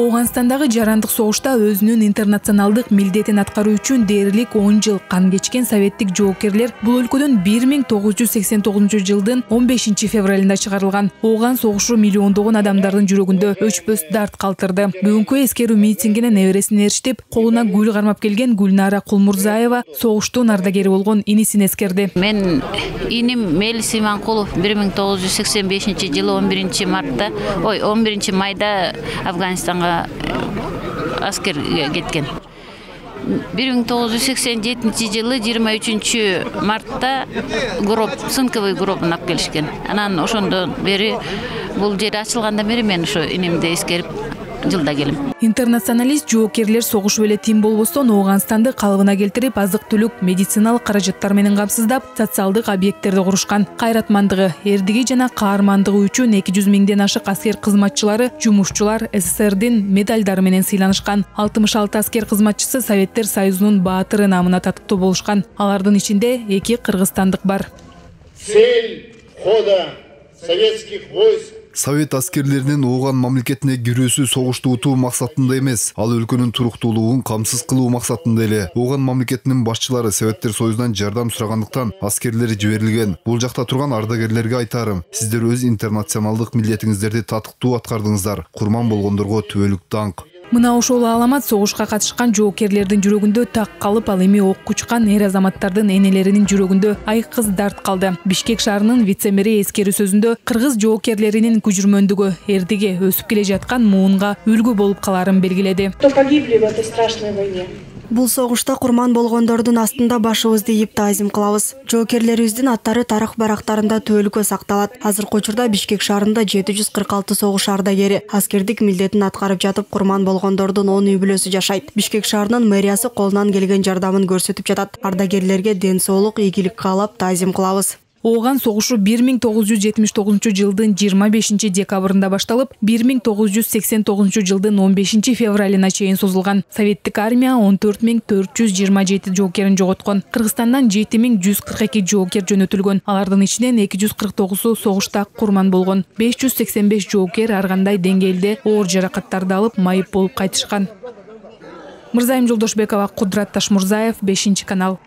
Ооганстандагы жарандык согушта өзүнүн интернационалдык милдетин аткаруу үчүн дээрлик 10 жыл кан кечкен советтик жоокерлер бул өлкөдөн 1989 жылдын 15 февралында чыгарылган. Ооган согушу миллиондогон адамдардын жүрөгүндө өчпөс дарт калтырды. Бүгүнкү эскерүү митингине небересин ээрчитип, колуна гүл кармап келген Гүлнара Кулмурзаева согуштун ардагери болгон инисин эскерди. Мен иним Мелис Иманкулов 1985 жылы 11 майда Афганистанга аскерге кеткен. 1987 жылы 23 мартта цинковый гробун алып келишкен. Анан ошондон бери бул жер ачылгандан бери мен ошо инимди эскерип жылда келем. Интернационалист жоокерлер согушуп эле тим болбостон Ооганстанды калыбына келтирип, азык-түлүк, медициналык каражаттар менен камсыздап, социалдык объекттерди курушкан. Кайратмандыгы, эрдиги жана каармандыгы үчүн 200 миңден ашык аскер кызматчылары, жумушчулар СССРдин медалдары менен сыйланышкан. 66 аскер кызматчысы Советтер Союзунун баатыры намына татыктуу болушкан. Алардын ичинде 2 кыргызстандык бар. Цель хода советских войск Совет аскерлеринин Ооган мамлекетине кирүүсү согушту утуу максатында эмес, ал өлкөнүн туруктуулугун камсыз кылуу максатында эле. Ооган мамлекетинин башчылары Советтер Союзунан жардам сурагандыктан аскерлери жиберилген. Бул жакта турган ардагерлерге айтарым: сиздер өз интернационалдык милдетиңиздерди татыктуу аткардыңыздар. Курман болгондорго түбөлүк даңк. Мына ошол аламат согушка катышкан жоокерлердин жүрөгүндө так калып, ал эми окко учкан эр азаматтардын энелеринин жүрөгүндө айкыз дарт калды. Бишкек шаарынын вице-мэри эскерүү сөзүндө кыргыз жоокерлеринин күжүрмөндүгү эрдиге өсүп келе жаткан муунга үлгү болуп каларын белгиледи. Кто погибли в этой страшной войне? Бул согушта курман болгондордун астында башыбызды ийип таазим кылабыз. Жоокерлерибиздин аттары тарых барактарында түбөлүккө сакталат. Азыркы учурда Бишкек шаарында 746 согуш ардагери аскердик милдетин аткарып жатып, курман болгондордун 10 үй бүлөсү жашайт. Бишкек шаарынын мэриясы колунан келген жардамын көрсөтүп жатат. Ардагерлерге ден соолук, ийгилик каалап таазим кылабыз. Ооган согушу 1979 жылдын 25 декабрында башталып, 1989 жылдын 15 февралына чейин созулган. Советтик армия 14427 жоокерин жоготкон. Кыргызстандан 7142 жоокер жөнөтүлгөн. Алардын ичинен 249 согушта курман болгон. 585 жоокер ар кандай деңгээлде оор жаракаттарды алып, майып болуп кайтышкан. Мырзайым Жолдошбекова, Кудрат Ташмурзаев, 5 канал.